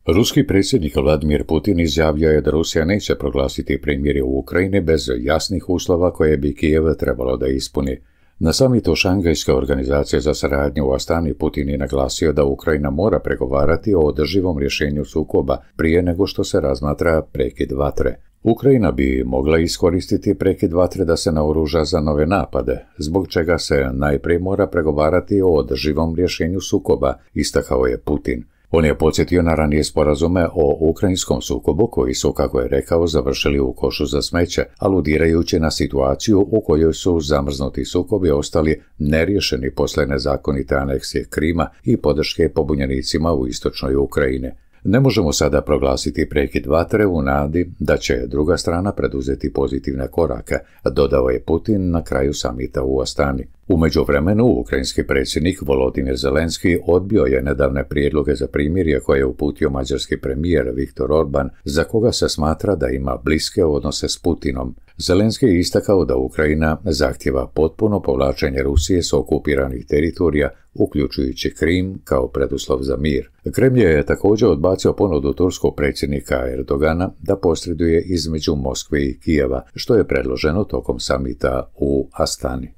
Ruski predsjednik Vladimir Putin izjavio je da Rusija neće proglasiti primirje u Ukrajini bez jasnih uslova koje bi Kijev trebalo da ispuni. Na samitu Šangajske organizacije za saradnju u Astani Putin je naglasio da Ukrajina mora pregovarati o održivom rješenju sukoba prije nego što se razmatra prekid vatre. Ukrajina bi mogla iskoristiti prekid vatre da se naoruža za nove napade, zbog čega se najprije mora pregovarati o održivom rješenju sukoba, istakao je Putin. On je podsjetio na ranije sporazume o ukrajinskom sukobu koji su, kako je rekao, završili u košu za smeće, aludirajući na situaciju u kojoj su zamrznuti sukobi ostali neriješeni posle nezakonite aneksije Krima i podrške pobunjenicima u istočnoj Ukrajini. Ne možemo sada proglasiti prekid vatre u nadi da će druga strana preduzeti pozitivne korake, dodao je Putin na kraju samita u Astani. U međuvremenu, ukrajinski predsjednik Volodimir Zelenski odbio je nedavne prijedloge za primirje koje je uputio mađarski premijer Viktor Orban, za koga se smatra da ima bliske odnose s Putinom. Zelenski je istakao da Ukrajina zahtjeva potpuno povlačenje Rusije s okupiranih teritorija, uključujući Krim, kao preduslov za mir. Kremlj je također odbacio ponudu turskog predsjednika Erdogana da posreduje između Moskve i Kijeva, što je predloženo tokom samita u Astani.